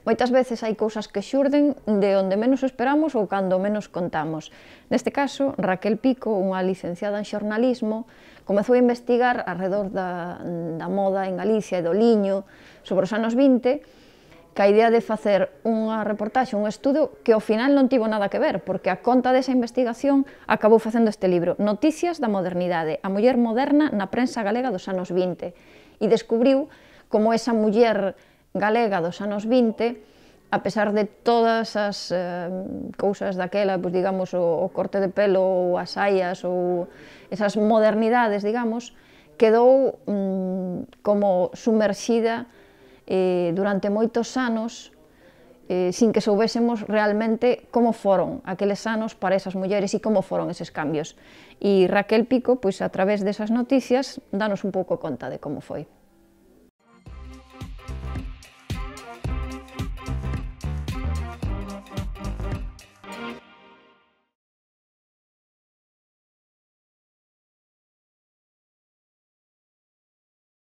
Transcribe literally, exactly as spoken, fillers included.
Moitas veces hai cousas que xurden de onde menos esperamos ou cando menos contamos. Neste caso, Raquel Pico, unha licenciada en xornalismo, comezou a investigar arredor da, da moda en Galicia e do liño sobre os anos vinte, ca idea de facer unha reportaxe, un estudo que ao final non tivo nada que ver, porque a conta desa investigación acabou facendo este libro, Noticias da modernidade, a muller moderna na prensa galega dos anos vinte, e descubriu como esa muller galega dos anos vinte, a pesar de todas as eh, cousas daquela, pues, digamos, o, o corte de pelo, ou as saias, ou esas modernidades, digamos, quedou mm, como sumerxida eh, durante moitos anos, eh, sin que soubésemos realmente como foron aqueles anos para esas mulleres e como foron eses cambios. E Raquel Pico, pois, a través desas noticias, danos un pouco conta de como foi.